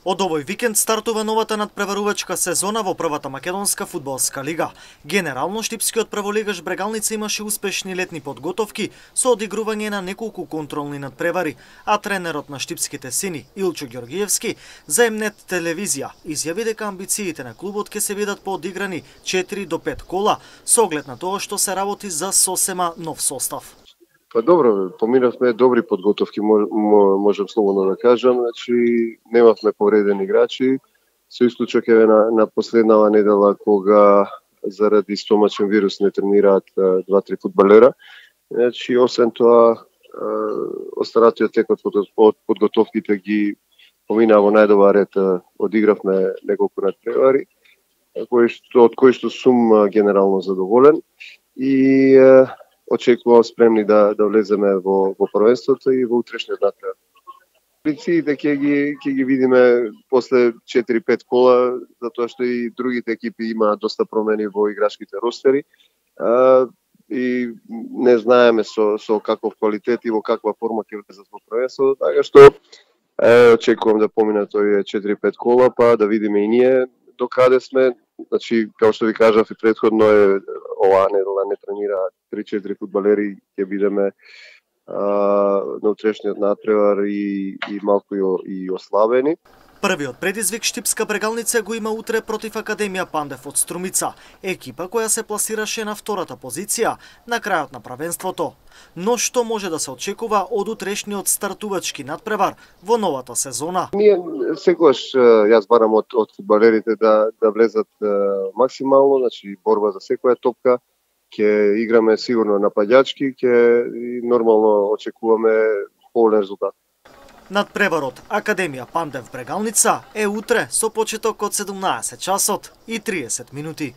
Од овој викенд стартува новата надпреварувачка сезона во првата македонска фудбалска лига. Генерално штипскиот прволигаш Брегалница имаше успешни летни подготовки со одигрување на неколку контролни надпревари, а тренерот на штипските сини Илчо Ѓоргиевски за М-нет телевизија изјави дека амбициите на клубот ќе се видат по одиграни 4 до 5 кола со оглед на тоа што се работи за сосема нов состав. Па добро, поминавме добри подготовки, можам слободно да кажам, значи немавме повредени играчи, со исклучок на последнава недела кога заради стомачен вирус не тренираат 2-3 фудбалера. Значи освен тоа останатиот тек од подготовките ги помина во најдобар ред, одигравме неколку надпревари, од кои што сум генерално задоволен и очекувам спремни да влеземе во првенството и во утрешниот надпревар. Амбициите ќе ги видиме после 4-5 кола, затоа што и другите екипи имаат доста промени во играчките ростери и не знаеме со каков квалитет и во каква форма ќе влезат во првенството, така што очекувам да поминат овие 4-5 кола, па да видиме и ние до каде сме. Значи, како што ви кажав и претходно, оваа недела не тренираат 3-4 фудбалери, ќе бидеме на утрешниот надпревар и малку и ослабени. Првиот предизвик штипска Брегалница го има утре против Академија Пандев од Струмица, екипа која се пласираше на втората позиција на крајот на правенството. Но што може да се очекува од утрешниот стартувачки надпревар во новата сезона? Ние секогаш јас барам од фудбалерите да влезат максимално, значи борба за секоја топка, ќе играме сигурно нападјачки, ќе нормално очекуваме поголем резултат. Надпреварот Академија Пандев Брегалница е утре со почеток од 17 часот и 30 минути.